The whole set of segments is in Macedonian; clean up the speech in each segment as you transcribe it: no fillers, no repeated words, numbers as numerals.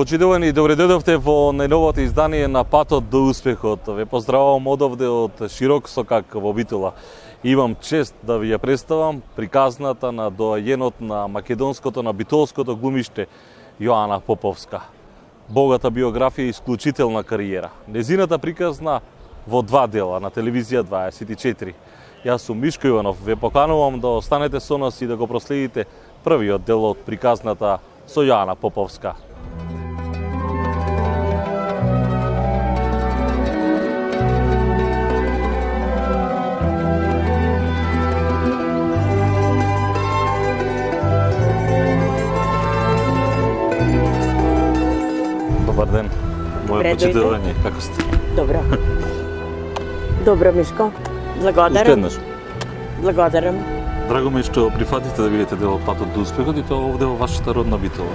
Почитувани, добре дојдовте во најновото издание на Патот до успехот. Ве поздравувам одовде од широк сокак во Битола. Имам чест да ви ја представам приказната на доајенот на македонското, на битолското глумиште Јоана Поповска. Богата биографија и исклучителна кариера. Незината приказна во два дела на телевизија 24. Јас сум Мишко Иванов, ве поканувам да останете со нас и да го проследите првиот дел од приказната со Јоана Поповска. Добар ден, моје почитување, како сте? Добро. Добро, Мишко. Благодарам. Уште еднаш. Благодарам. Драго ми е што прифатите да бидете дел од Патот до успехот и тоа овде во вашата родна Битола.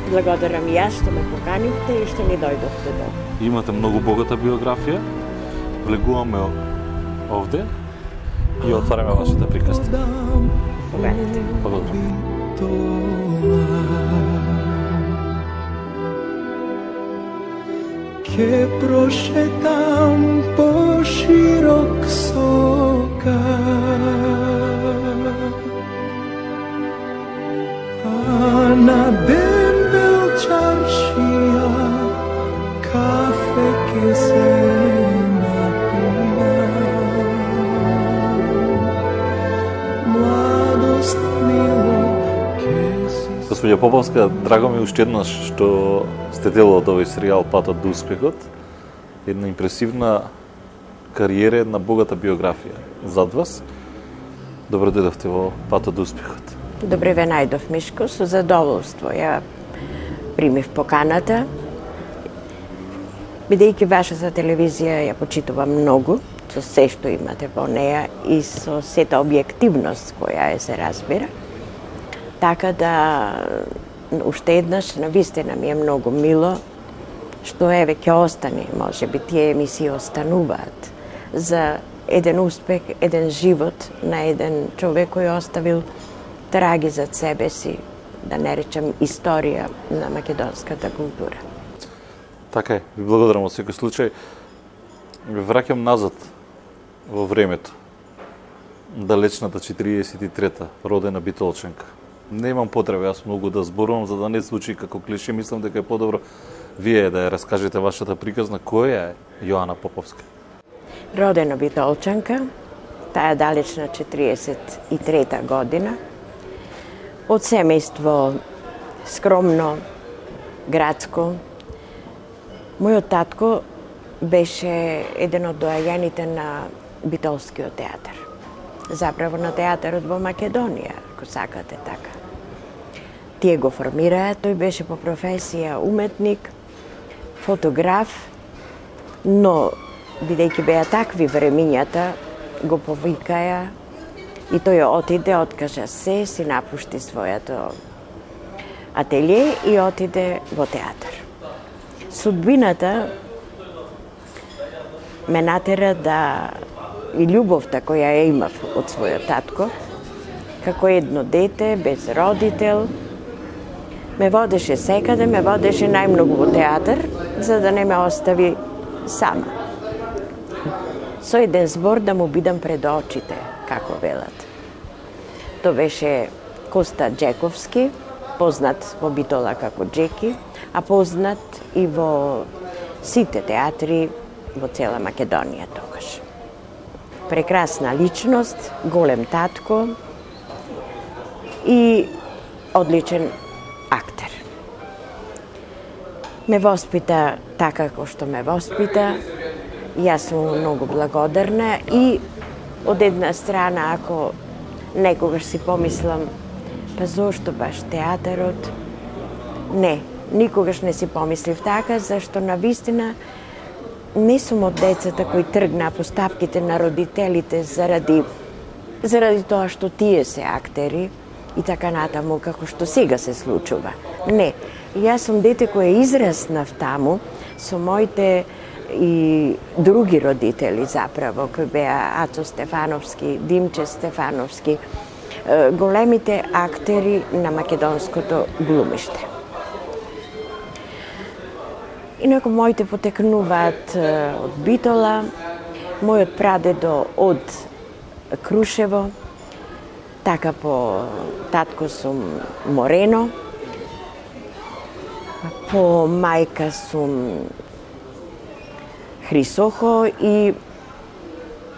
Благодарам и јас што ме поканивте и што ми дојдовте до. Имате многу богата биографија. Влегуваме овде и отвараме вашата приказна. Поведете. Благодарам. Ке прошетам по широк сокак, а на дембел чаршија кафе ке се напија. Младост мило ке си... Господја Поповска, драго ми уште еднаш што сте дел од овој серијал Патот до успехот. Една импресивна кариера, една богата биографија зад вас. Добро дојдовте во Патот до успехот. Добре ве најдов, Мишко, со задоволство. Ја примив поканата. Бидејќи вашата телевизија ја почитувам многу, со се што имате во неја и со сета објективност која се разбира. Така да, уште еднаш, навистина ми е многу мило, што еве ќе остане, може би тие емисии остануваат за еден успех, еден живот на еден човек кој оставил траги зад себе си, да не речем историја на македонската култура. Така е, ви благодарам во секој случај. Ви враќам назад во времето. Далечната 43-та, родена битолчанка. Немам потреба јас многу да зборувам за да не звучи како клише, мислам дека е подобро вие да ја раскажете вашата приказна. Која е Јоана Поповска? Родена битолчанка, таа далечна 43-та година, од семејство скромно, градско. Мојот татко беше еден од доајаните на битолскиот театар. Заправо на театарот во Македонија, ако сакате така. Тие го формираа, тој беше по професија уметник, фотограф, но бидејќи беа такви времињата, го повикаја и тој отиде, откажа се, си напушти својато ателје и отиде во театар. Судбината ме натера да и љубовта која ја имав од својот татко, како едно дете, без родител, ме водеше секаде, ме водеше најмногу во театар, за да не ме остави сама. Со еден збор да му бидам пред очите, како велат. Тоа беше Коста Джековски, познат во Битола како Джеки, а познат и во сите театри во цела Македонија тогаш. Прекрасна личност, голем татко и одличен актер. Ме воспита така како што ме воспита, јас сум многу благодарна и од една страна, ако некогаш си помислам, па зошто баш театарот? Не, никогаш не си помислив така, зашто навистина не сум од децата кои тргнаа по стапките на родителите заради тоа што тие се актери и така натаму, како што сега се случува. Не, јас сум дете кој израснав таму со моите и други родители заправо, кои беа Ацо Стефановски, Димче Стефановски, големите актери на македонското глумиште. Инаку моите потекнуваат од Битола, мојот прадедо од Крушево, така по татко сум Морено, по мајка сум Хрисохо и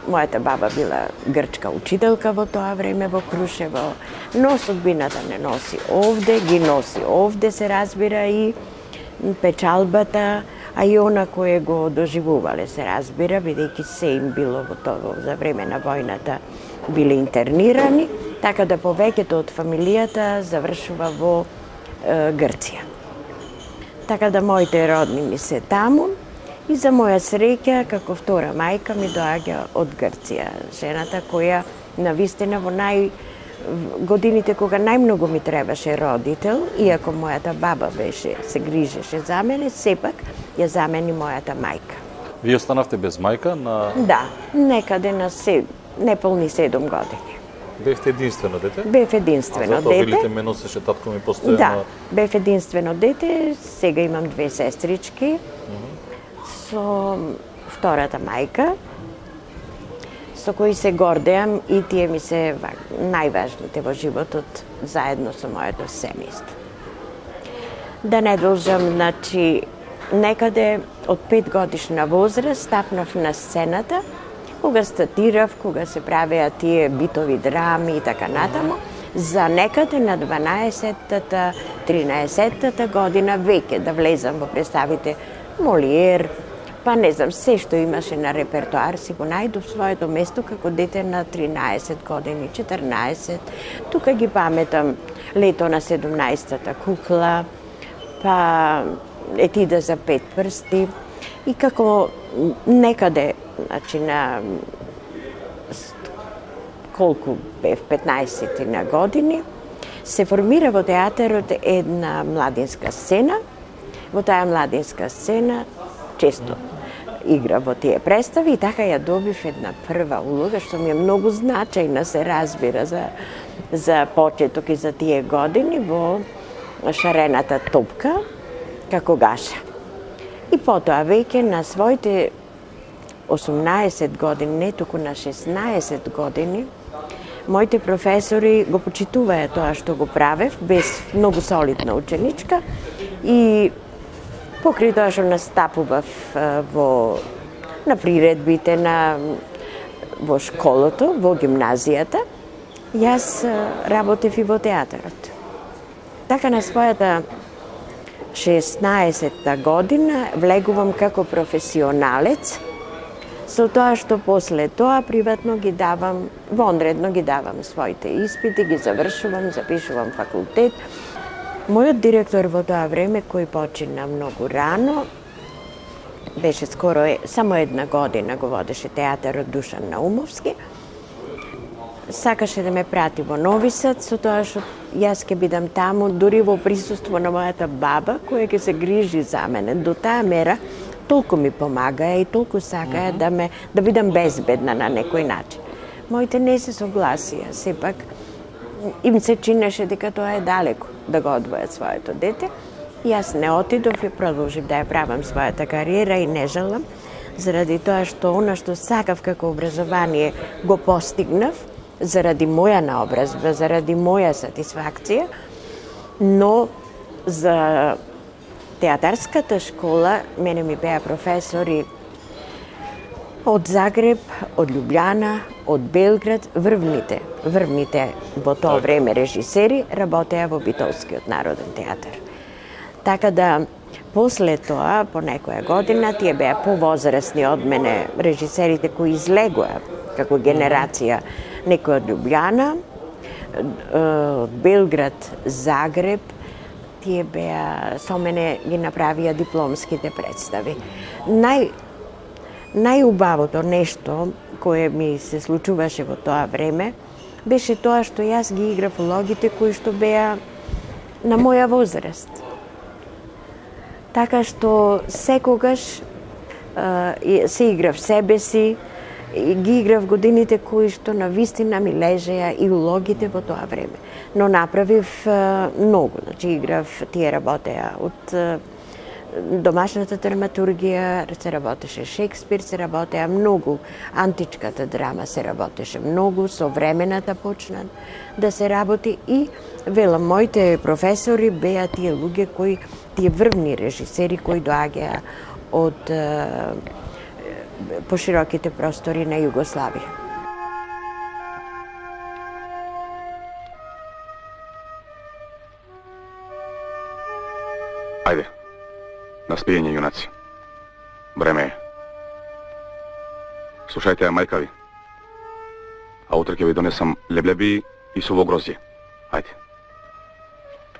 мојата баба била грчка учителка во тоа време во Крушево, но судбината не носи овде, ги носи овде, се разбира, и печалбата, а и она кое го доживувале, се разбира, бидејќи се им било во тоа за време на војната биле интернирани, така да повеќето од фамилијата завршува во Грција. Така да моите родни ми се таму, и за моја среќа, како втора мајка, ми доаѓа од Грција. Жената која, навистина, во годините кога најмногу ми требаше родител, иако мојата баба се грижеше за мене, сепак ја замени мојата мајка. Вие останавте без мајка на... Да, некаде на неполни 7 години. Бевте единствено дете? Бев единствено дете. А затоа велите ме носеше татко ми постојано? Да, бев единствено дете, сега имам 2 сестрички, со втората мајка, со кои се гордеам и тие ми се најважните во животот, заедно со моето семејство. Да не должам, значи, некаде од 5 годишна возраст стапнав на сцената, кога статирав, кога се правеа тие битови драми и така натаму, за некаде на 12-та, 13-та година веќе да влезам во представите Молиер, па не знам, се што имаше на репертоар си го најдов своето место како дете на 13 години, 14. Тука ги паметам Лето на 17-та кукла, па Етида за 5 прсти, и како некаде, значи на колку бев 15 на години, се формира во театарот една младинска сцена. Во таа младинска сцена често игра во тие представи и така ја добив една прва улога, што ми е многу значајна, се разбира, за почеток и за тие години во Шарената топка, како Гаша. И потоа веќе на своите 18 години, не туку на 16 години, моите професори го почитуваа тоа што го правев, без многу солидна ученичка, и покрај тоа што настапував на приредбите, во школото, во гимназијата, јас работев и во театарот. Така на својата 16-та година влегувам како професионалец, со тоа што после тоа приватно ги давам, вонредно ги давам своите испити, ги завршувам, запишувам факултет. Мојот директор во тоа време, кој почина многу рано, беше скоро само 1 година го водеше театарот Душан Наумовски, сакаше да ме прати во Нови Сад, со тоа што јас ќе бидам таму, дури во присуство на мојата баба, која ќе се грижи за мене. До таа мера толку ми помагаа и толку сакаа да бидам безбедна на некој начин. Моите не се согласија, сепак им се чинеше дека тоа е далеко да го одвојат своето дете. Јас не отидов и продолжив да ја правам својата кариера и не жалам, заради тоа што она што сакав како образование го постигнав, заради моја наобразба, заради моја сатисфакција, но за театарската школа мене ми беа професори од Загреб, од Љубљана, од Белград, врвните во тоа време режисери работеа во Битолскиот народен театар. Така да, после тоа, по некоја година, тие беа повозрасни од мене режисерите кои излегоа како генерација, некој од Љубљана, од Белград, Загреб, тие беа, со мене ги направија дипломските представи. Најубавото нешто кое ми се случуваше во тоа време беше тоа што јас ги играв улогите кои што беа на моја возраст. Така што секогаш се играв себе си, ги играв годините кои што навистина ми лежеа и улогите во тоа време. Но направив многу, значи играв, тие работеа од домашната драматургија се работеше Шекспир, се работеа многу, античката драма се работеше многу, современата почна да се работи и велам, моите професори беа тие луѓе кои, тие врвни режисери кои доаѓаа од пошироките простори на Југославија. Ајде, на спиење, јунаци. Време е. Слушајте ја, мајка ви. А утре ќе ви донесам леблеби и суво грозје. Ајде.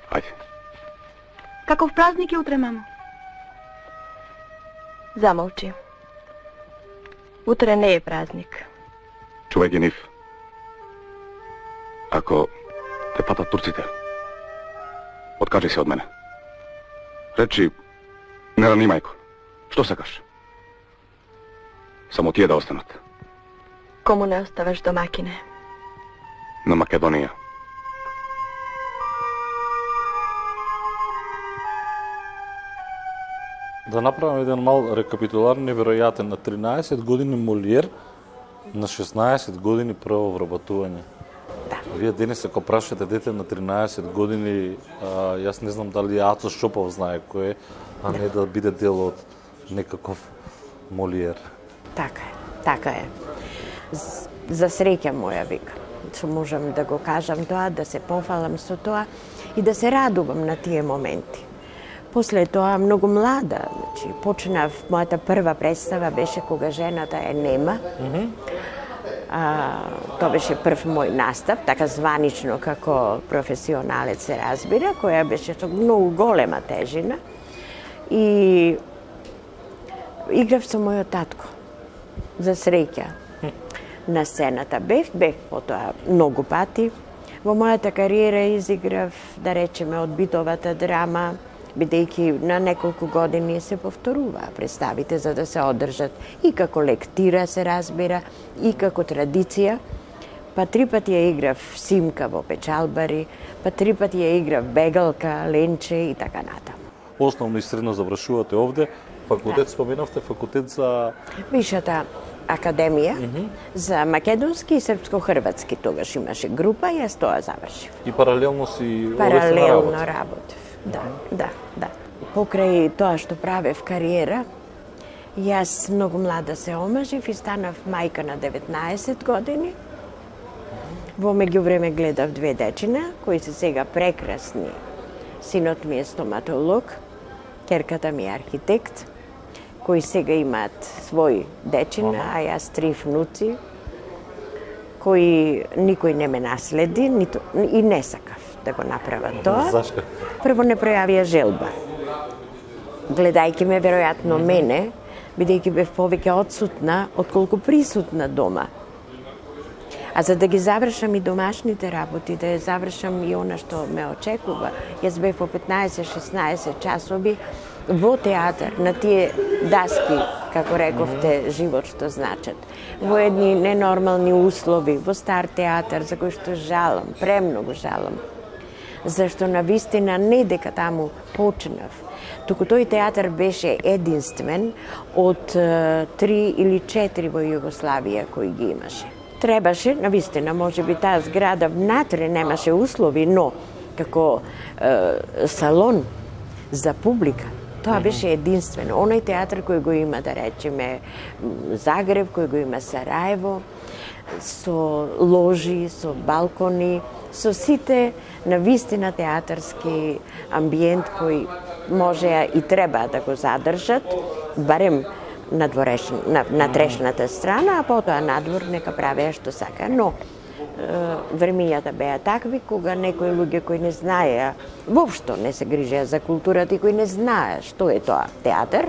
Ајде. Каков празник е утре, мамо? Замолчи. Утре не е празник. Чувај ги, Нив. Ако те патат турците, откажи се од мене. Речи, не рани, мајко. Што сакаш? Само тие да останат. Кому не оставаш, домакине? На Македонија. Да направам еден мал рекапитулар, неверојатен. На 13 години Молиер, на 16 години прво вработување. Да. Вие денес ако прашате дете на 13 години, јас не знам дали Ацо Шопов знае кој е, а не да биде дел од некаков Молиер. Така е. За среќа моја, вика, што можам да го кажам тоа, да се пофалам со тоа и да се радувам на тие моменти. После тоа, многу млада, значи, почнав, мојата прва представа беше Кога жената е нема. Тоа беше прв мој настап, така званично како професионалец се разбира, која беше со многу голема тежина. И играв со мојот татко, за среќа, на сцената. Бев потоа многу пати. Во мојата кариера изиграв, да речеме, од битовата драма, бидејќи на неколку години се повторуваа представите за да се одржат и како лектира се разбира, и како традиција. Па 3 пати ја играв Симка во Печалбари, па 3 пати ја играв Бегалка, Ленче и така натаму. Основно и средно завршувате овде. Факултет, споменавте, факултет за... Висшата академија за македонски и српско-хрватски тогаш имаше група и јас тоа завршив. И паралелно си Паралелно работев. Да. Покрај тоа што правев кариера, јас многу млада се омажив и станав мајка на 19 години. Во меѓувреме гледав 2 дечина, кои се сега прекрасни. Синот ми е стоматолог, керката ми е архитект, кои сега имаат свој дечина, а јас 3 внуци, кои никој не ме наследи, и не сакав да го направат тоа. Зашто? Прво не пројавија желба. Гледајќи ме, веројатно мене, бидејќи бев повеќе одсутна, отколку присутна дома. А за да ги завршам и домашните работи, да ја завршам и она што ме очекува, јас бев по 15-16 часови во театар, на тие даски, како рековте, живот што значат. Во едни ненормални услови, во стар театар, за кој што жалам, премногу жалам. Зашто навистина не дека таму почнав, туку тој театар беше единствен од 3 или 4 во Југославија кои ги имаше. Требаше, навистина, може би таа зграда внатре немаше услови, но како салон за публика, тоа беше единствено. Оној театар кој го има, да речеме, Загреб, кој го има Сараево, со ложи, со балкони, со сите навистина театарски амбиент кој може и треба да го задржат, барем на трешната страна, а потоа надвор нека правеа што сака. Но времињата беа такви кога некои луѓе кои не знаеа, воопшто не се грижеа за културата и кои не знаеа што е тоа театар,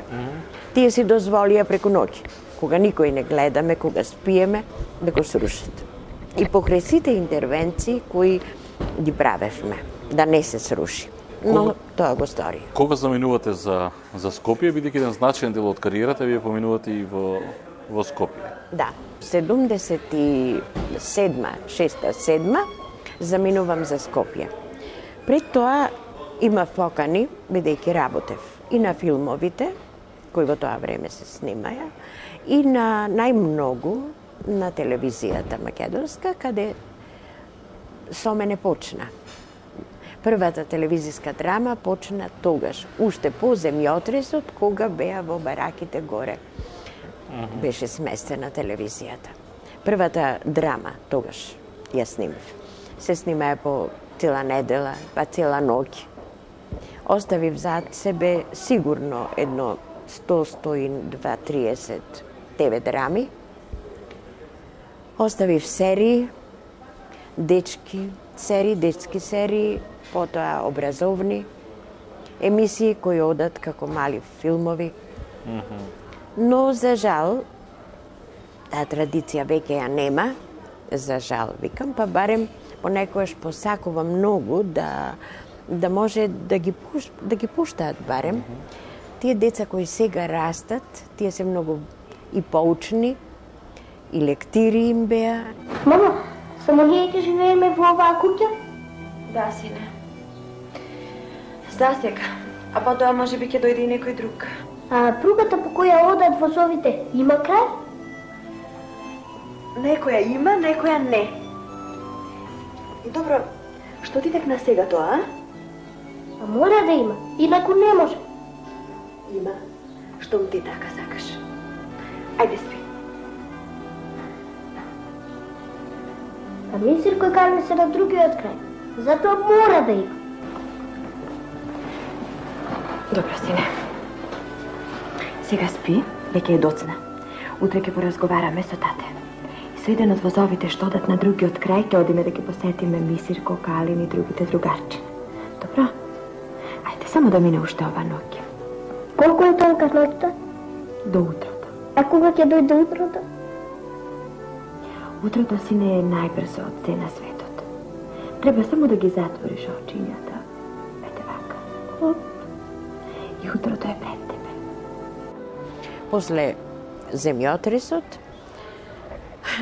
тие си дозволија преку ноќ, кога никој не гледаме, кога спиеме, да го срушат. И покрај сите интервенции кои ги правевме, да не се сруши. Но тоа го стори. Кога заминувате за Скопје, бидејќи еден значаен дел од кариерата вие поминувате и во Скопје? Да, 6-7 заминувам за Скопје. Пред тоа имав покани, бидејќи работев и на филмовите, кои во тоа време се снимаја, и на најмногу на телевизијата македонска, каде со мене почна. Првата телевизиска драма почна тогаш, уште по земјотресот, кога беа во бараките горе. Беше сместена телевизијата. Првата драма тогаш ја снимав. Се снимаја по цела недела, па цела ноќ. Оставив зад себе сигурно едно 100-120-30 ТВ драми. Оставив серии, детски серии, потоа образовни емисии кои одат како мали филмови. Но за жал таа традиција веќе ја нема. За жал викам, па барем понекогаш посакувам многу да може да ги пуштаат барем. Тие деца кои сега растат, тие се многу и поучни, и лектири им беа. Мама, само ние ќе живееме во оваа куќа? Да, сине. За сега. А потоа може би ќе дојде и некој друг. А пругата по која одат возовите има крај? Некоја има, некоја не. Добро, што ти текна сега тоа, А мора да има, инаку не може. Има, штом ти така сакаш. Ајде спи. А мисир кој кане се на другиот крај. Затоа мора да има. Добро, сине. Сега спи, веќе е доцна. Утре ќе поразговараме со тате. И со еден од возовите што одат на другиот крај, ќе одиме да ги посетиме Мисирко, Калин и другите другарчи. Добро? Ајде, само да мине уште ова ноќ. Колку е тонка ноќта? До утрото. А кога ќе дојде утрото? Утрото, сине, е најбрзо од се на светот. Треба само да ги затвориш очињата. Ете вака. И утрото е пред тебе. После земјотресот,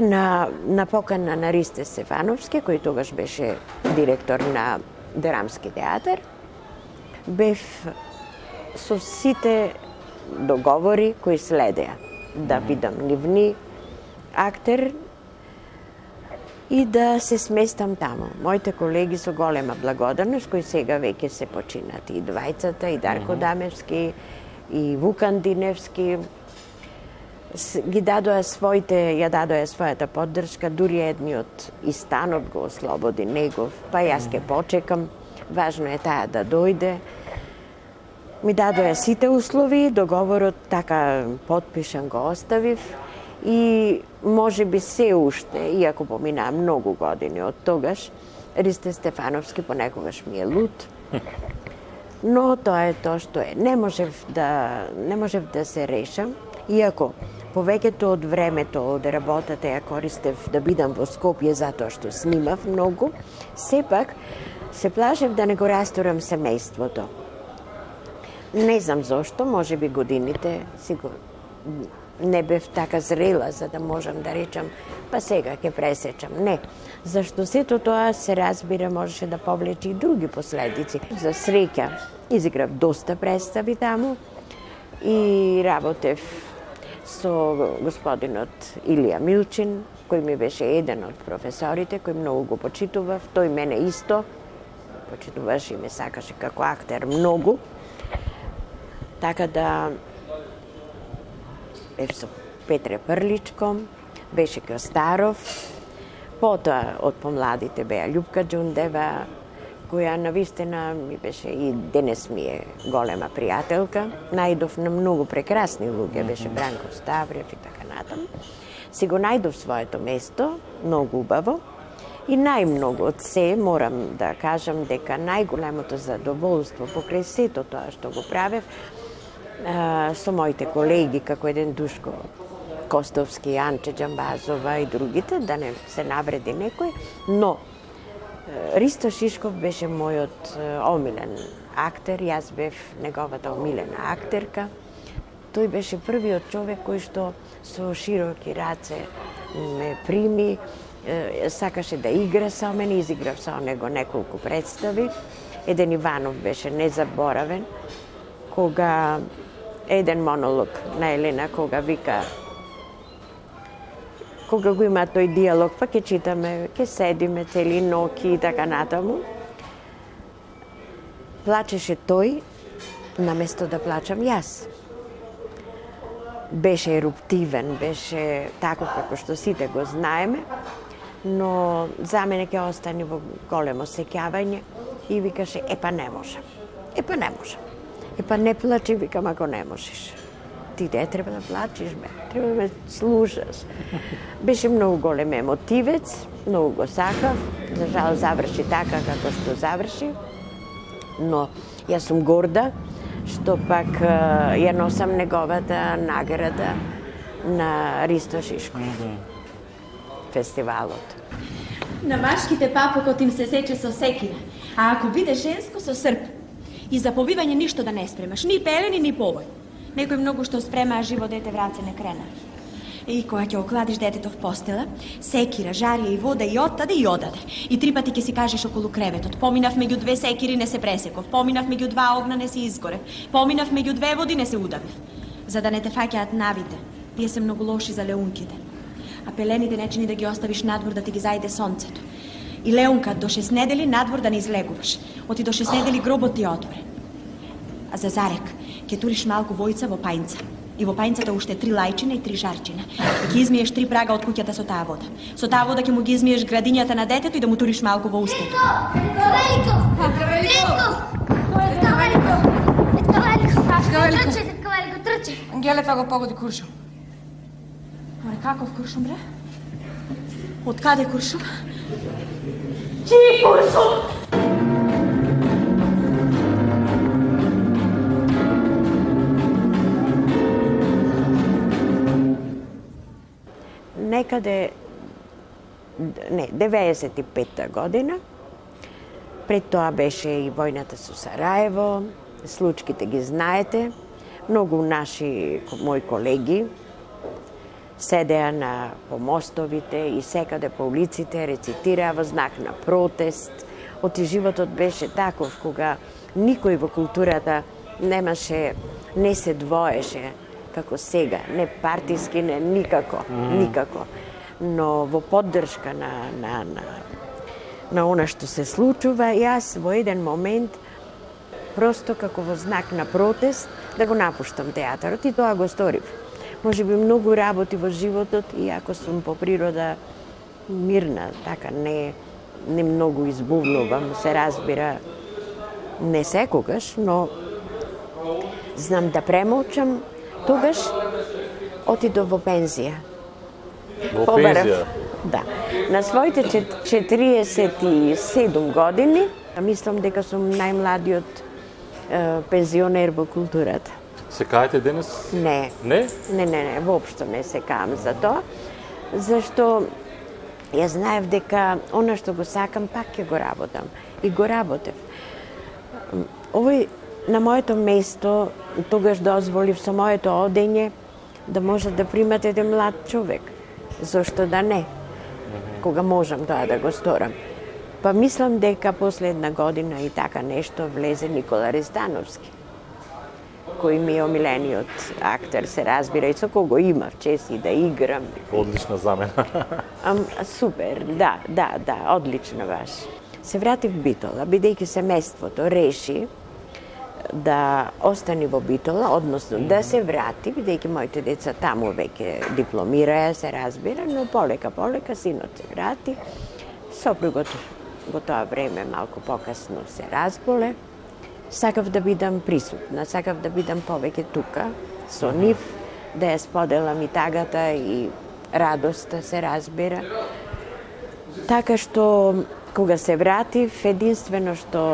на покана на Ристе Стефановски, кој тогаш беше директор на Драмски театар, бев со сите договори кои следеа. Да бидам нивни актер и да се сместам таму. Моите колеги со голема благодарност, кои сега веќе се починати, и двајцата, и Дарко Дамевски, и Вукан Диневски, ја дадоа својата поддршка, дури едниот и станот го ослободи негов, па јас ке почекам, важно е таа да дојде. Ми дадоа сите услови, договорот така потпишан го оставив и може би се уште, иако поминаа многу години од тогаш, Ристе Стефановски понекогаш ми е луд. Но тоа е тоа што е. Не можев да се решам, иако повеќето од времето од работата ја користев да бидам во Скопје затоа што снимав многу, сепак се плашев да не го растурам семејството. Не знам зошто, може би годините не бев така зрела за да можам да речам па сега ќе пресечам. Не, зашто сето тоа се разбира можеше да повлече и други последици. За среќа изиграв доста представи таму и работев со господинот Илија Милчин, кој ми беше еден од професорите, кој многу го почитував, тој мене исто почитуваше и ме сакаше како актер многу. Така да бев со Петре Прличко, беше Костаров, потоа од помладите беа Љупка Џундева, која навистина ми беше и денес ми е голема пријателка. Најдов на многу прекрасни луѓе, беше Бранко Ставрев и така натаму. Си го најдов своето место, многу убаво. И најмногу од се морам да кажам дека најголемото задоволство покрај сето тоа што го правев со моите колеги, како еден Душко Костовски, Анче Џамбазова и другите, да не се навреди некој, но Ристо Шишков беше мојот омилен актер, јас бев неговата омилена актерка. Тој беше првиот човек кој што со широки раце ме прими, сакаше да игра со мене, изиграв со него неколку представи. Еден Иванов беше незаборавен, кога еден монолог на Елена, кога вика, кога го има тој диалог, па ќе читаме, ќе седиме цели ноки и така натаму. Плачеше тој, наместо да плачам јас. Беше еруптивен, беше таков како што сите го знаеме, но за мене ќе остане во големо сеќавање и викаше, епа не можам. Епа не можам. Епа не плачи, викам, ако не можеш. Ти не треба да плачиш, бе. Треба да ме слушаш. Беше многу голем емотивец, многу го сакав. За жал заврши така како што заврши. Но јас сум горда што пак ја носам неговата награда на Ристо Шишков. Фестивалот. На машките папукот им се сече со секира, а ако биде женско со срп. И за побивање ништо да не спремаш, ни пелени, ни повој. Некој многу што спрема, а живо дете вранце не крена. И кога ќе окладиш детето в постела, секира, жарија и вода и оттаде и одаде. И 3 пати ќе си кажеш околу креветот. Поминав меѓу 2 секири, не се пресеков. Поминав меѓу 2 огна, не се изгорев. Поминав меѓу 2 води, не се удавив. За да не те фаќаат навите. Тие се многу лоши за леунките. А пелените не чини да ги оставиш надвор да ти ги зајде сонцето. И леунка до 6 недели надвор да не излегуваш. Оти до 6 недели гробот ти е отворен. А за зарек, ќе туриш малку војца во пајнца. И во пајнцата уште 3 лајчина и 3 жарчина. И ќе измиеш 3 прага од куќата со таа вода. Со таа вода ќе му ги измиеш градињата на детето и да му туриш малку во устето. Великов! Великов! Трче! Ангелета го погоди куршум. Море, каков куршум, бре? Од каде куршум? Чиј куршум? Некаде, 95-та година, пред тоа беше и војната со Сараево, случките ги знаете, многу наши мои колеги седеа на помостовите и секаде по улиците рецитираа во знак на протест. Оти животот беше таков кога никој во културата не се двоеше како сега, не партиски, не никако, никако. Но во поддршка на она што се случува, јас во еден момент просто како во знак на протест да го напуштам театарот и тоа го сторив. Може би многу работи во животот, иако сум по природа мирна, така не многу избувнувам, се разбира, не секогаш, но знам да премолчам. Тогаш отидов во пензија. Во пензија? Да. На своите 47 години, мислам дека сум најмладиот пензионер во културата. Се каете денес? Не. Не? Не, воопшто не се каам за тоа, зашто ја знаев дека она што го сакам пак ќе го работам. И го работев. Овој на моето место тогаш дозволив со моето одење да може да примат еден млад човек. Зошто да не? Кога можам тоа да го сторам. Па мислам дека после една година и така нешто влезе Никола Ристановски, кој ми е омилениот актер, се разбира, и со кого имав чест и да играм. Одлична замена. Супер, да, одлично баш. Се вратив в Битола, бидејќи семејството реши да остани во Битола, односно да се врати, бидејќи моите деца таму веќе дипломираа, се разбира, но полека синот се врати. Сопругот во тоа време малку покасно се разболе. Сакав да бидам присутна, сакав да бидам повеќе тука со нив, да ја споделам и тагата и радоста, се разбира. Така што кога се вратив, единствено што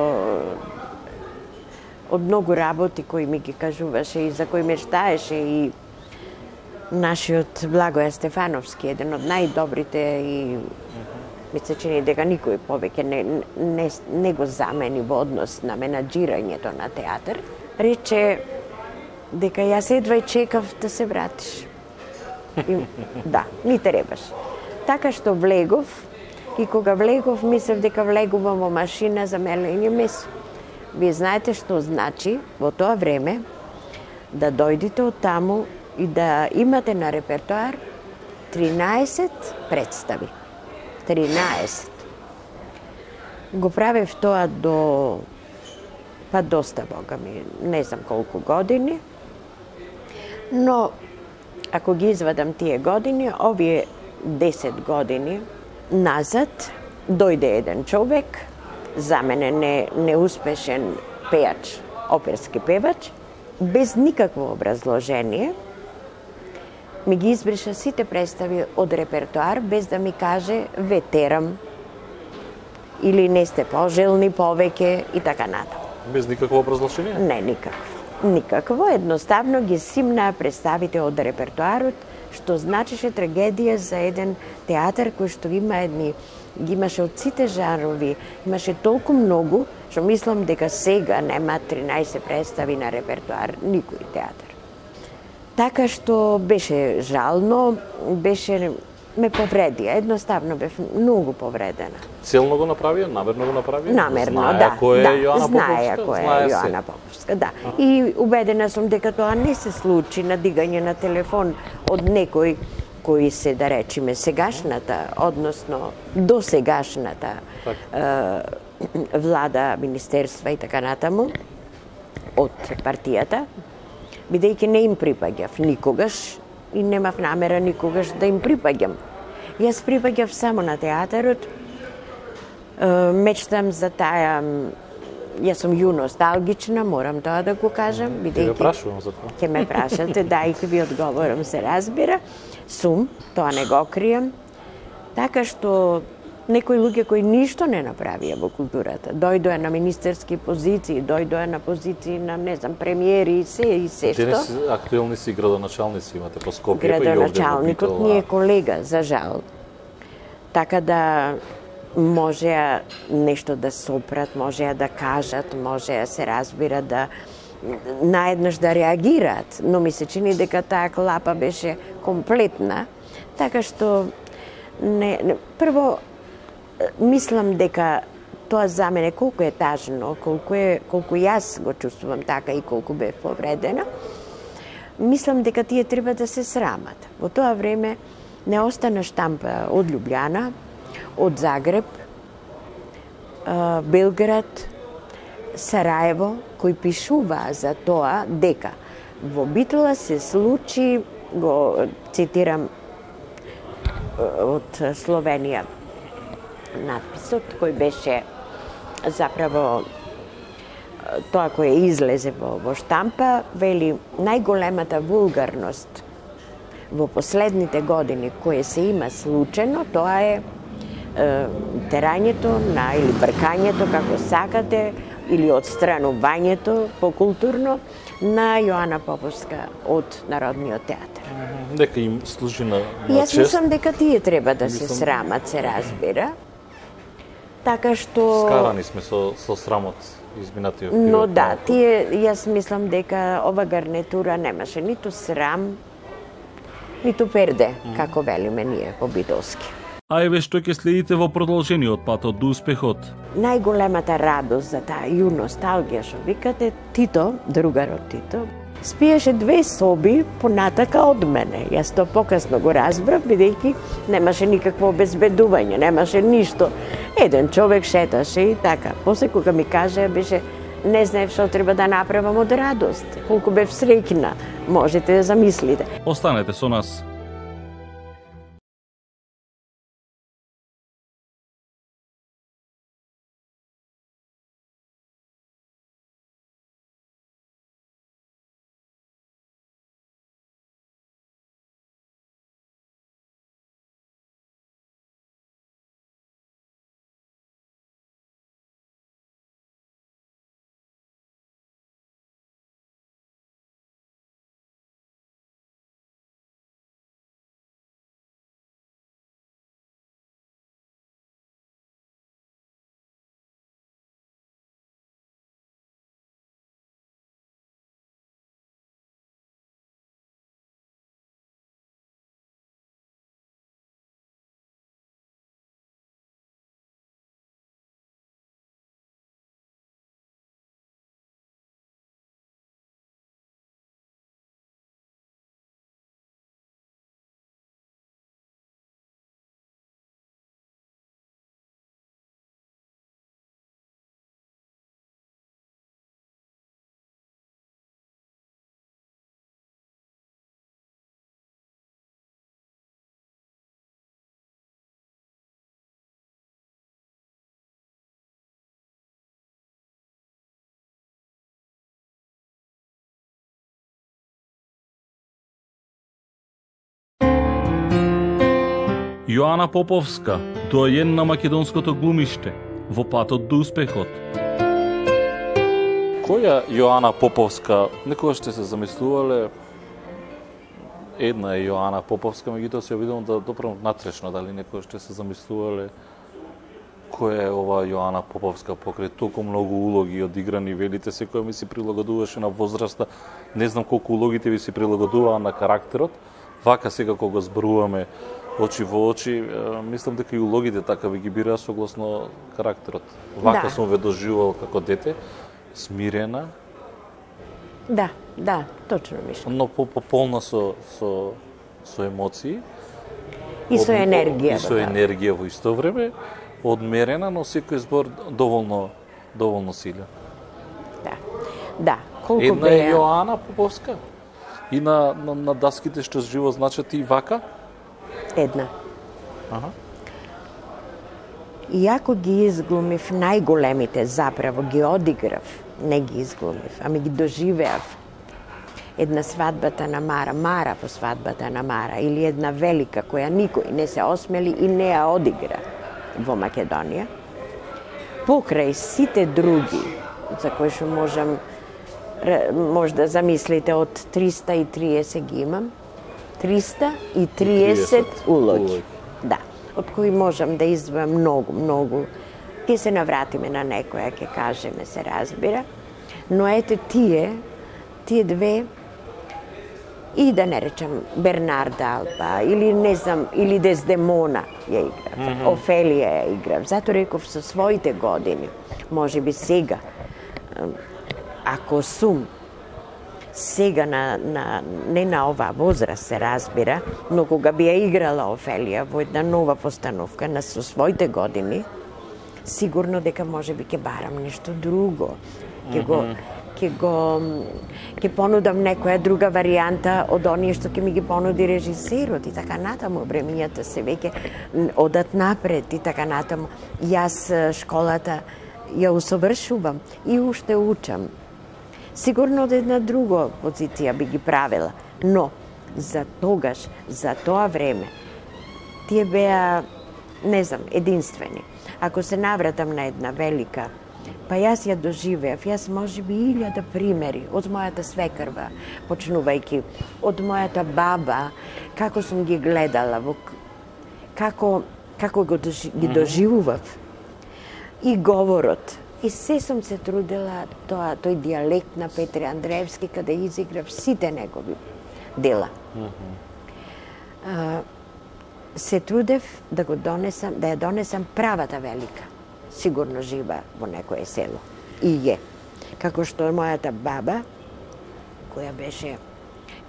од многу работи кои ми ги кажуваше и за кои мечтаеше и нашиот Благоја Стефановски, еден од најдобрите и ми се чини дека никој повеќе не го замени во однос на менаџирањето на театар, рече дека јас едва чекав да се вратиш. И, да, ми требаш. Така што влегов и кога влегов, мислев дека влегувам во машина за мелење месо. Вие знаете што значи во тоа време да дојдете од таму и да имате на репертоар 13 представи. 13. Го правев тоа до доста, Бога ми, не знам колку години, но ако ги извадам тие години, овие 10 години назад, дојде еден човек, за мене неуспешен пејач, оперски певач, без никакво образложение, ми ги избриша сите представи од репертоар, без да ми каже ве терам, или не сте пожелни повеќе и така натаму. Без никакво образложение? Не, никакво. Никакво, едноставно ги симнаа представите од репертоарот, што значеше трагедија за еден театар кој што ги имаше од сите жанрови, имаше толку многу, што мислам дека сега нема 13 представи на репертоар никој театар. Така што беше жално, ме повредија, едноставно бев многу повредена. Целно го направија, намерно го направија? Намерно, Знаеја кој е Јоана Поповска? Знаеја кој е Јоана Поповска, да. И убедена сум дека тоа не се случи на дигање на телефон од некој кои се, да речеме, сегашната, односно досегашната влада, министерства и така натаму, од партијата, бидејќи не им припаѓав никогаш и немав намера никогаш да им припаѓам. Јас припаѓав само на театарот, мечтам за таа, јас сум носталгична, морам тоа да го кажам, бидејќи... Ќе прашувам за тоа. Ќе ме прашате, да, и ќе ви одговорам, се разбира. Сум, тоа не го кријам. Така што некои луѓе кои ништо не направија во културата, дојдоа на министерски позиции, дојдоа на позиции на, не знам, премиери и се што. Денес актуелни си градоначалници имате по Скопје, па и овде во Градоначалникот ни е колега, за жал. Така да можеа нешто да сопрат, можеа да кажат, можеа се разбира да наеднаш да реагираат, но ми се чини дека таа клапа беше комплетна, така што прво мислам дека тоа за мене колку е тажно, колку јас го чувствувам така и колку бев повредена, мислам дека тие треба да се срамат. Во тоа време не остана штампа од Лјубљана, од Загреб, Белград, Сараево, кои пишуваа за тоа дека во Битола се случи, го цитирам од Словенија, надписот кој беше заправо тоа кој излезе во штампа, вели најголемата вулгарност во последните години кој се има случено, тоа е терањето или бркањето, како сакате, или отстранувањето покултурно на Јоана Поповска од Народниот театар. Дека им служи на Јас чест. мислам дека тие треба да се срамат, се разбира. Така што... Скарани сме со срамот изминатиот период. Но да, јас мислам дека ова гарнитура немаше ниту срам, ниту перде, како велиме ние по битолски. А еве што ќе следите во продолжениот патот до успехот. Најголемата радост за таа носталгија што викате, Тито, другарот Тито, спиеше 2 соби понатака од мене. Јас тоа покасно го разбрав, бидејќи немаше никакво обезбедување, немаше ништо. Еден човек шеташе и така. После кога ми кажа, беше, не знаев што треба да направам од радост. Колку бев среќна, можете да замислите. Останете со нас. Јоана Поповска, доаен на македонското глумиште, во патот до успехот. Која Јоана Поповска, некогаш сте се замислувале, една е Јоана Поповска, меѓутоа се обидувам да допрам натрешно, дали некогаш сте се замислувале која е ова Јоана Поповска покрај толку многу улоги одиграни, велите секоја ми си прилагодуваше на возраста, не знам колку улогите ви си прилагодуваа на карактерот, вака сега кога го зборуваме очи во очи, мислам дека и улогите така ви ги бираа согласно карактерот. Вака сум ве доживувал како дете, смирена. Да, точно мислам. Но полна со емоции. И со енергија. И со енергија во исто време, одмерена, но секој збор доволно силен. Да. Колку една е Јоана Поповска. И на даските што живо значат и вака? Една. Иако ги изглумив најголемите, заправо ги одиграв, не ги изглумив, ами ги доживеав. Една свадбата на Мара по свадбата на Мара, или една велика која никој не се осмели и не ја одигра во Македонија. Покрај сите други, за кои што може да замислите, од 330 ги имам, 330 улоги. Да, од кои можам да издвојам многу. Ке се навратиме на некоја, ке кажеме, се разбира. Но ете тие две, и да не речам Бернарда Алба, или не знам, или Дездемона ја играв, Офелија ја играв. Зато реков со своите години, може би сега, ако сум сега не на оваа возраст се разбира, но кога би ја играла Офелија во една нова постановка со своите години, сигурно дека може би ќе барам нешто друго. Ќе понудам некоја друга варијанта од оние што ќе ми ги понуди режисерот и така натаму. Времењата се веќе одат напред и така натаму. Јас школата ја усовршувам и уште учам. Сигурно од една друга позиција би ги правила, но за тогаш, за тоа време, тие беа, не знам, единствени. Ако се навратам на една велика, па јас ја доживеав, јас може би 1000 примери од мојата свекрва, почнувајќи од мојата баба, како сум ги гледала, како ги доживував, и говорот. И се сум се трудела тој дијалект на Петре Андреевски, каде изиграв сите негови дела. Се трудев да ја донесам правата велика. Сигурно жива во некое село. И е. Како што мојата баба, која беше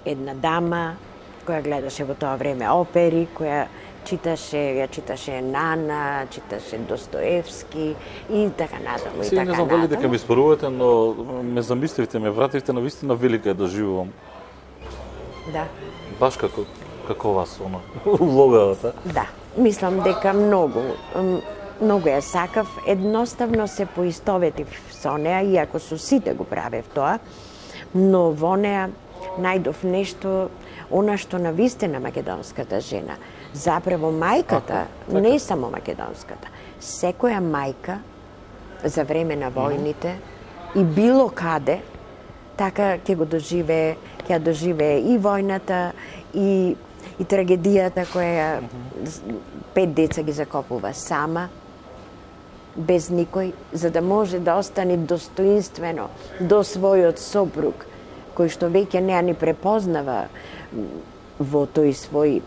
една дама, која гледаше во тоа време опери, која ја читаше Нана, читаше Достоевски и така натаму. Сега не знам дали дека ми спорувате, но ме замисливте, ме вративте на вистина велика ја доживувам. Да. Баш како вас, улогата. Да, мислам дека многу ја сакав, едноставно се поистоветив со неа, иако со сите го правев тоа, но во неа најдов нешто, она што навистина македонската жена. Заправо мајката, не само македонската, секоја мајка за време на војните и било каде, така ќе ја доживее и војната, и трагедијата која 5 деца ги закопува сама, без никој, за да може да остане достоинствено до својот сопруг, кој што веќе не ни препознава во тој свој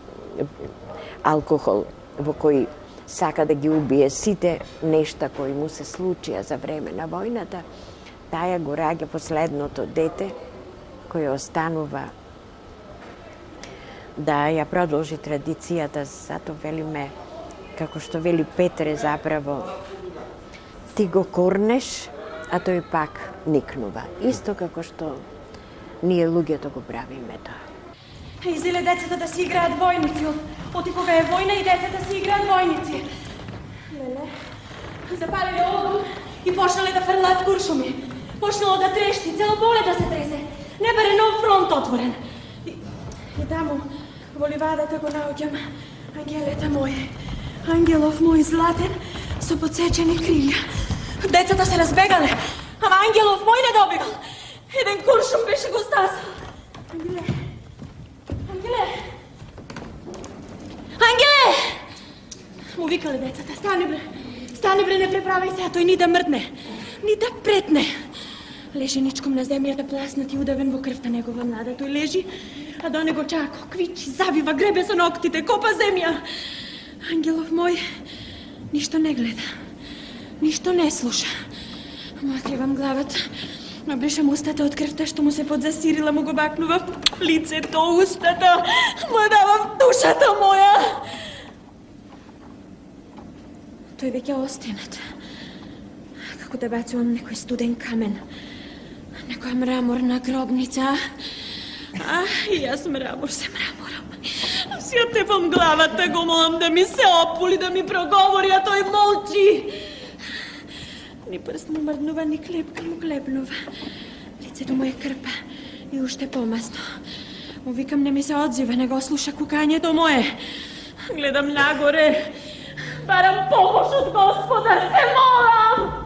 алкохол, во кој сака да ги убие сите нешта кои му се случија за време на војната, таја го раѓа последното дете, кој останува да ја продолжи традицијата, зато велиме, како што вели Петре заправо, ти го корнеш, а тој пак никнува. Исто како што ние луѓето го правиме тоа. Изеле децата да си играат војници, оти кога е војна и децата си играат војници. Леле? Запалиле огон и почнале да фрлаат куршуми. Почнало да трешти, цело поле да се тресе. Не бере нов фронт отворен. И таму, Во ливадата го наоѓам ангелете моје. Ангелов мој златен со подсечени крилја. Децата се разбегале, ама ангелов мој не добивал. Еден куршум беше го стасал. Ангеле! Ангеле! Ангеле! Му викале децата, стани бре. Стани бре, не преправај се, а тој ни да мртне, ни да претне. Лежи ничком на земјата, пласнат и удавен во крвта негова млада. Тој лежи, а до него чако, квичи, завива, гребе со ноктите, копа земја. Ангелов мој ништо не гледа, ништо не слуша. Му отливам главата, набришам устата од крвта што му се подзасирила, му го бакнувам лицето, устата, му давам душата моја. Тој веќе остенат. Како да бацувам некој студен камен, некоја мраморна гробница. И јас мрамор се мраморам. Си отепам главата, го молам да ми се опули, да ми проговори, а тој молчи. Ни прст му мрднува, ни клепка му клепнува. Лицето му е крпа и уште помасно. Му викам, не ми се одзива, не го слуша кукањето мое. Гледам нагоре, барам помош од Господа, се молам!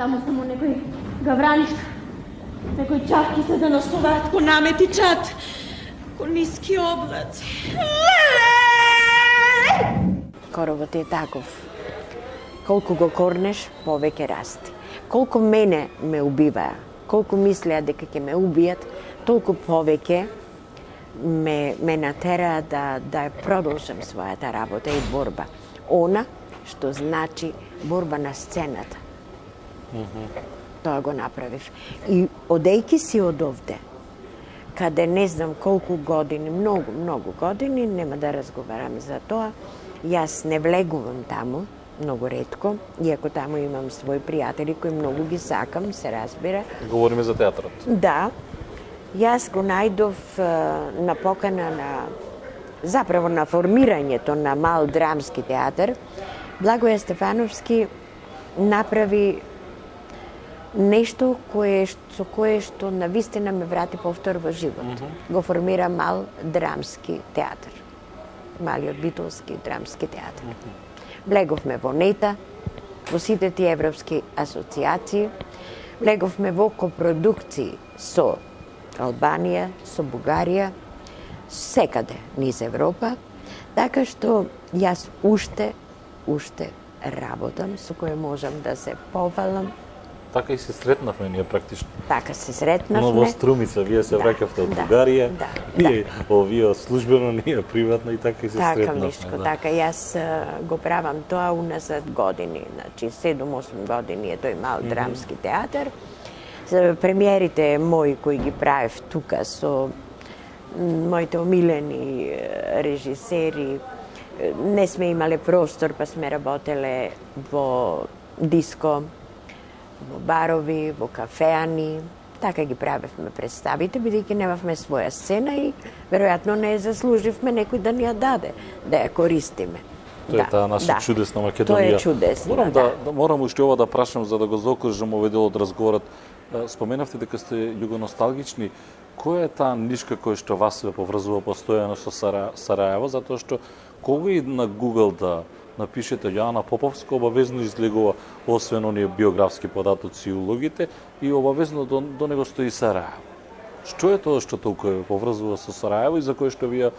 Таму само некој гавранишка, некој чавки се заносуваат ко намети чат, ко ниски облаци. Коровот е таков. Колку го корнеш, повеќе расти. Колку мене ме убиваа, колку мислеа дека ќе ме убијат, толку повеќе ме натераа да продолжам својата работа и борба. Она што значи борба на сцената. Тоа го направив. И одејки си од овде, каде не знам колку години, многу години, нема да разговараме за тоа, јас не влегувам таму, многу ретко, иако таму имам своји пријатели кои многу ги сакам, се разбира. Говориме за театарот. Да. Јас го најдов на покана заправо на формирањето на мал драмски театар. Благоје Стефановски направи нешто со кое што навистина ме врати повтор во живот. Го формира мал драмски театар. Малиот битолски драмски театар. Влеговме во НЕТА, во сите тие европски асоциации, влеговме во копродукции со Албанија, со Бугарија, секаде низ Европа, така што јас уште работам со кој можам да се повалам. Така и се сретнавме ние практично. Така се сретнавме. Но во Струмица, вие се враќавте од Бугарија, ние овие службено, ние приватно и така и се сретнавме. Така, Мишко, така. Јас го правам тоа уназад години, значи 7-8 години е тој мал драмски театар. Премиерите мои кои ги правев тука со моите омилени режисери, не сме имале простор, па сме работеле во диско, во барови, во кафеани, така ги правевме представите, бидејќи немавме своја сцена и веројатно не заслуживме некој да ни ја даде, да ја користиме. Тоа е таа наша чудесна Македонија. Тоа е чудесно, Морам уште ова да прашам за да го заокружам овој дел од разговорот. Споменавте дека сте југоносталгични. Која е таа нишка која што вас ве поврзува постојано со Сараево, затоа што кога и на Google да напишете Јоана Поповска, обавезно излегува освен оние биографски податоци и улогите и обавезно до него стои Сараево. Што е тоа што толку ве поврзува со Сараево и за кое што вие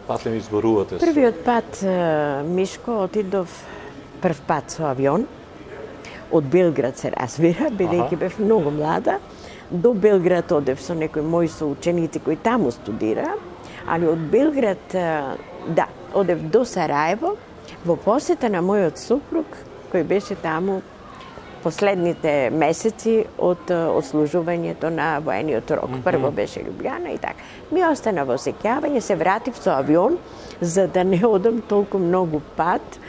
патем изборувате? Првиот пат, Мишко, отидов прв пат со авион, од Белград се разбира, бидејќи бев многу млада. До Белград одев со некои мои соученици кои таму студира, али од Белград, одев до Сараево, во посета на мојот супруг, кој беше таму последните месеци од отслужувањето на воениот рок. Прво беше Лјубљана и така. Ми остана во сеќавање, се вратив со авион, за да не одам толку многу пат.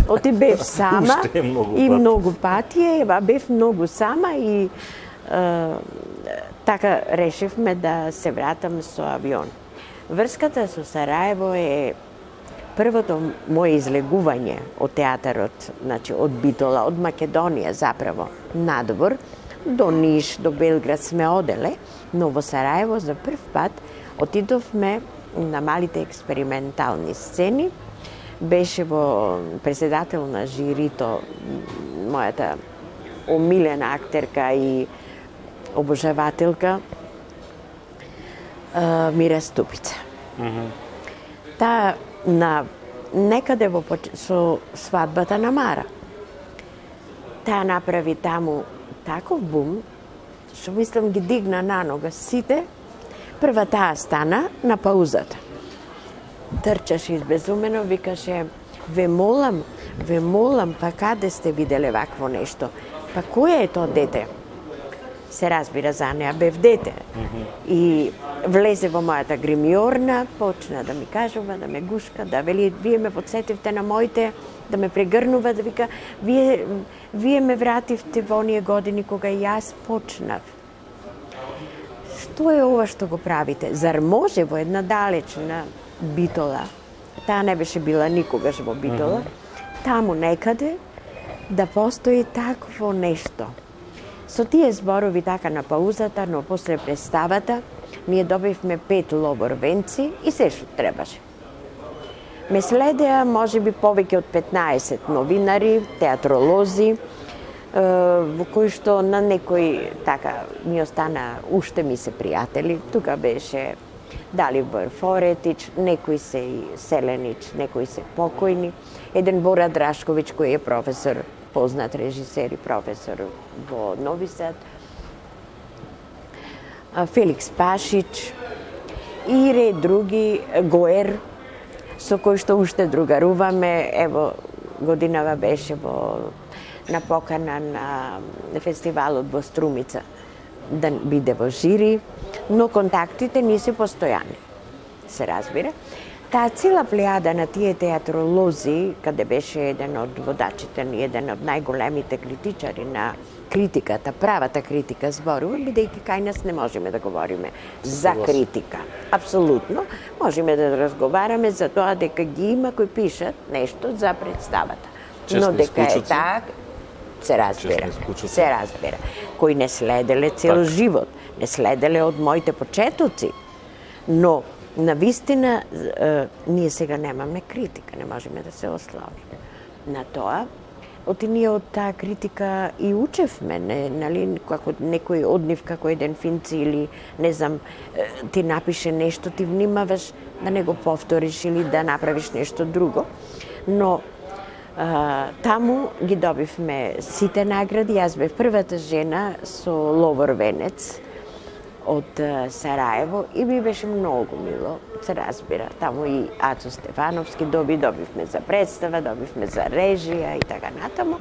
Оти бев сама и многу пати, бев многу сама и така решивме да се вратам со авион. Врската со Сараево е првото моје излегување од театарот, значи од Битола, од Македонија заправо, надвор, до Ниш, до Белград сме оделе, но во Сараево за прв пат отидовме на малите експериментални сцени. Беше во председател на жирито мојата омилена актерка и обожавателка Мира Ступица. Таа на некаде со свадбата на Мара. Таа направи таму таков бум, што мислам ги дигна на нога сите. Прва таа стана на паузата. Трчаше избезумено, викаше: ве молам, па каде сте виделе вакво нешто? Па кој е тоа дете? Се разбира за неа, бев дете. И влезе во мојата гримиорна, почна да ми кажува, да ме гушка, да вели: вие ме подсетивте на моите, да ме прегрнува, да вика: вие ме вративте во оние години кога јас почнав. Што е ова што го правите? Зар може во една далечна Битола, таа не беше била никогаш во Битола, таму некаде да постои такво нешто? Со тие зборови така на паузата, но после представата, ние добивме 5 лобор-венци и се што требаше. Ме следеа можеби повеќе од 15 новинари, театролози, во кои што на некои така ми остана, уште ми се пријатели. Тука беше Далибор Форетич, некои се и Селенич, некои се покојни. Еден Бора Драшковиќ кој е професор, познат режисер и професор во Нови Сад. Феликс Пашич и ред други, Гоер, со кој што уште другаруваме. Ево, годинава беше на покана на фестивалот во Струмица да биде во жири, но контактите не се постојани, се разбира. Таа цела плејада на тие театролози, каде беше еден од водачите, еден од најголемите критичари на критиката, правата критика зборува, бидејќи кај нас не можеме да говориме за критика. Апсолутно, можеме да разговараме за тоа дека ги има кои пишат нешто за представата. Но дека е так, се разбира. Кои не следеле цел живот, не следеле од моите почетоци, но на вистина ние сега немаме критика, не можеме да се ословиме на тоа. Ние од таа критика и учевме, нали, како некој од нив, како еден Финци или, не знам, ти напише нешто, ти внимаваш да не го повториш или да направиш нешто друго. Но таму ги добивме сите награди. Јас бев првата жена со ловор-венец од Сараево и ми беше многу мило, се разбира. Таму и Ацо Стефановски добивме за представа, добивме за режија и така натаму.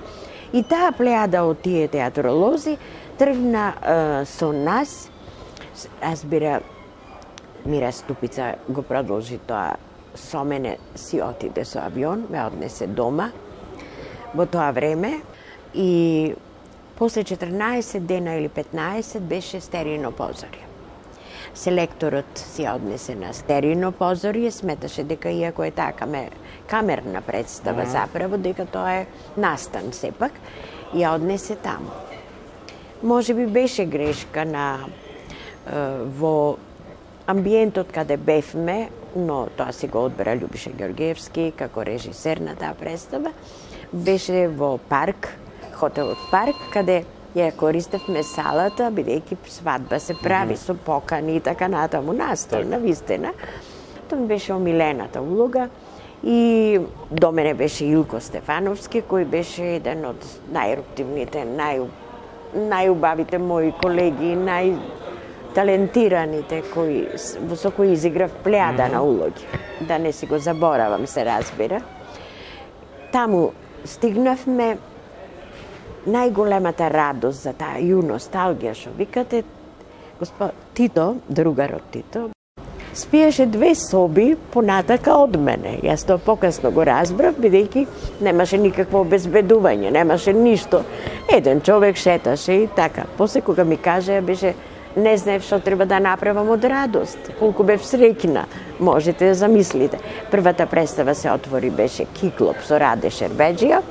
И таа плејада од тие театролози тргна со нас. Разбира, Мира Ступица го продолжи тоа со мене, си отиде со авион, ме однесе дома во тоа време и после 14 дена или 15 беше стерино позорје. Селекторот си однесе на стерино позорје, сметаше дека иако е таа камерна представа заправо, дека тоа е настан сепак, ја однесе таму. Може би беше грешка во амбиентот каде бевме, но тоа си го одбера Љубиша Ѓоргиевски како режисер на таа представа. Беше во парк, хотелот Парк, каде ја користевме салата, бидејќи свадба се прави со покани и така натаму, настан, навистина. Тоа ми беше омилената улога. И до мене беше Илко Стефановски, кој беше еден од најеруптивните, најубавите мои колеги, најталентираните со кои изиграв плејада на улоги. Да не си го заборавам, се разбира. Таму стигнавме. Најголемата радост за таа носталгија што викате, Тито, другарот Тито, спиеше 2 соби понатака од мене. Јас тоа покасно го разбрав, бидејќи немаше никакво обезбедување, немаше ништо. Еден човек шеташе и така. После кога ми кажа, беше, не знаев што треба да направам од радост. Колку бев среќна, можете да замислите. Првата представа се отвори, беше Киклоп со Раде Шербеџија,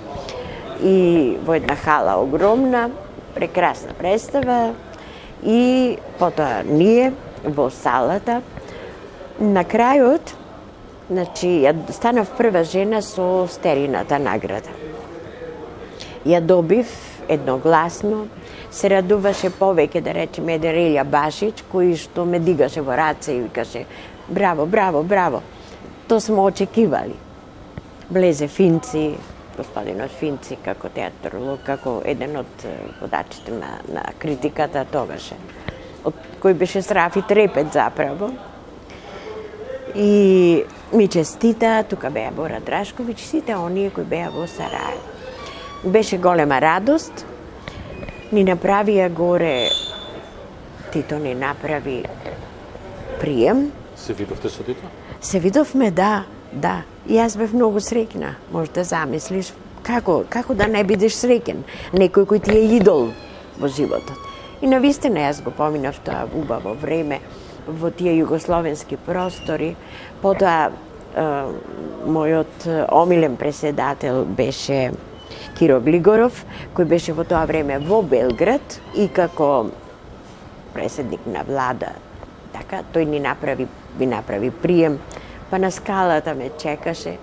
и во една хала огромна, прекрасна представа и потоа ние во салата. На крајот, значи, ја станав прва жена со Стерината награда. Ја добив едногласно, се радуваше повеќе, да речеме, еден Релја Башич, кој што ме дигаше во раце и викаше браво, браво, браво. То сме очекивали. Влезе Финци, господинот Финци, како театрлог, како еден од водачите на критиката тогаше, од кој беше Срафи Трепет заправо. И ми честита, тука беа Бора Драшковиќ, сите оние кои беа во Сараево. Беше голема радост. Ни направија горе, Тито ни направи прием. Се видовте со Тито? Се видовме, да. И јас бев многу среќна. Може да замислиш како да не бидеш среќен. Некој кој ти е идол во животот. И навистина јас го поминав тоа убаво време во тие југословенски простори. Потоа мојот омилен преседател беше Киро Глигоров, кој беше во тоа време во Белград и како преседник на влада. Така, тој ми направи прием, па на скалата ме чекаше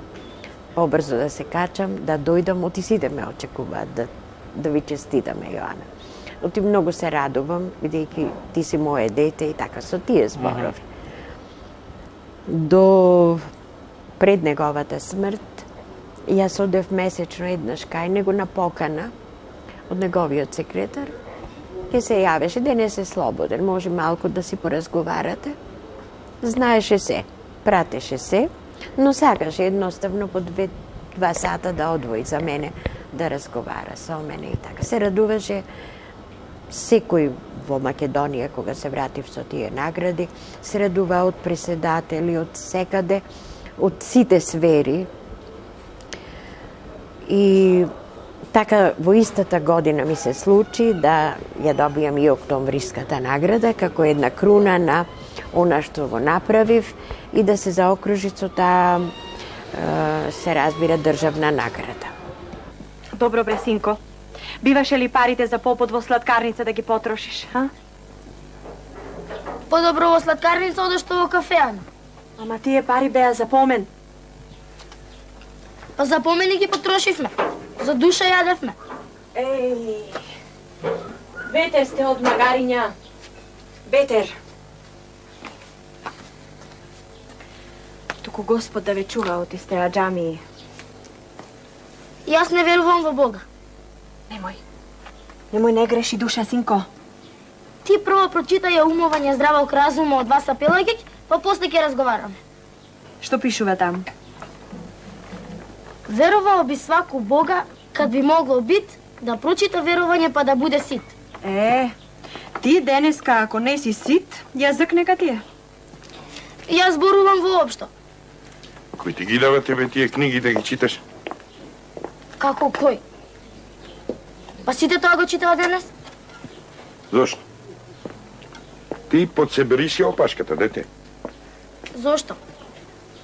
побрзо да се качам, да дојдам, оти сите ме очекуваат да ви честитаме, Јоана. Оти многу се радувам, бидејќи ти си моje дете и така со тие зборови. До пред неговата смрт, јас одев месечно еднаш кај него на покана од неговиот секретар. Ке се јавеше, денес е слободен, може малку да си поразговарате. Знаеше се, пратеше се, но сакаше едноставно по 2 сата да одвои за мене, да разговара со мене и така. Се радуваше секој во Македонија, кога се вратив со тие награди, се радува од преседатели, од секаде, од сите сфери. И така во истата година ми се случи да ја добијам и Октомвриската награда како една круна на она што го направив и да се заокружи со таа, се разбира, државна награда. Добро бре, синко. Биваше ли парите за попот во сладкарница да ги потрошиш, а? Подобро во сладкарница одешто во кафеана. Ама тие пари беа за помен. Па за помени ги потрошивме. За душа јадевме. Еј, ветер сте од магариња. Ветер. Туку Господ да ве чува од истеа џамии. Јас не верувам во Бога. Немој не греши душа, синко. Ти прво прочитај ја умовање здравок разума од Васа Пелагиќ, па после ќе разговараме. Што пишува там? Верувал би сваку Бога, кад би могло бит да прочита верување па да буде сит. Ти денеска ако не си сит, јазик нека ти е. Јас зборувам воопшто. Кој ти ги дава тебе тие книги да ги читаш? Како кој? Па сите тоа го читава денес? Зошто? Ти подсебери си опашката, дете. Зошто?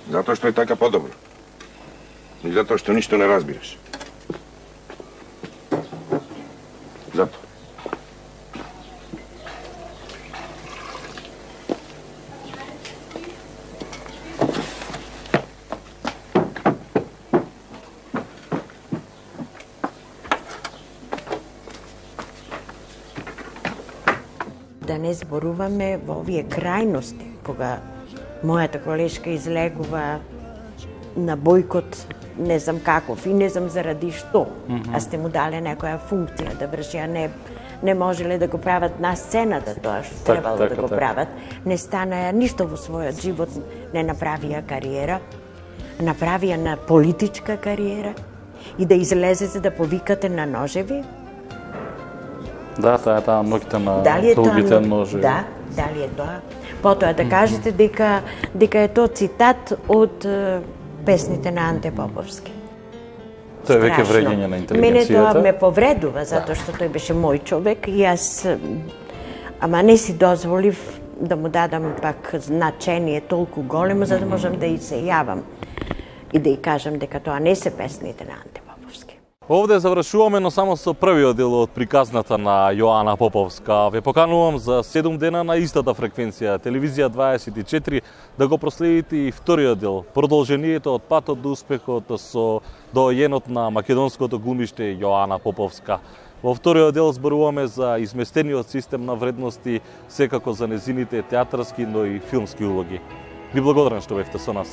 Затоа што е така подобро. И затоа што ништо не разбираш. Зато. Да не зборуваме во овие крајности, кога мојата колешка излегува на бојкот, не знам каков и не знам заради што, а сте му дале некоја функција да врши, а не можеле да го прават на сцената тоа што требало да го прават. Не станаја ништо во својот живот, не направија кариера, направија на политичка кариера и да излезете да повикате на ножеви. Да, таа ноќта на долгите ножеви. Да, дали е тоа? Потоа да кажете дека е тоа цитат од песните на Анте Поповски. Тоа е веќе вреѓање на интелигенцијата. Мене тоа ме повредува, затоа што тој беше мој човек и јас, ама не си дозволив да му дадам пак значение толку големо, за да можам да и се јавам и да и кажам дека тоа не се песните на Анте Поповски. Овде завршуваме, но само со првиот дел од приказната на Јоана Поповска. Ве поканувам за 7 дена на истата фреквенција, телевизија 24, да го проследите и вториот дел, продолжението од патот до успехот со доајенот на македонското глумиште Јоана Поповска. Во вториот дел зборуваме за изместениот систем на вредности, секако за незините театарски, но и филмски улоги. Ви благодарам што бевте со нас.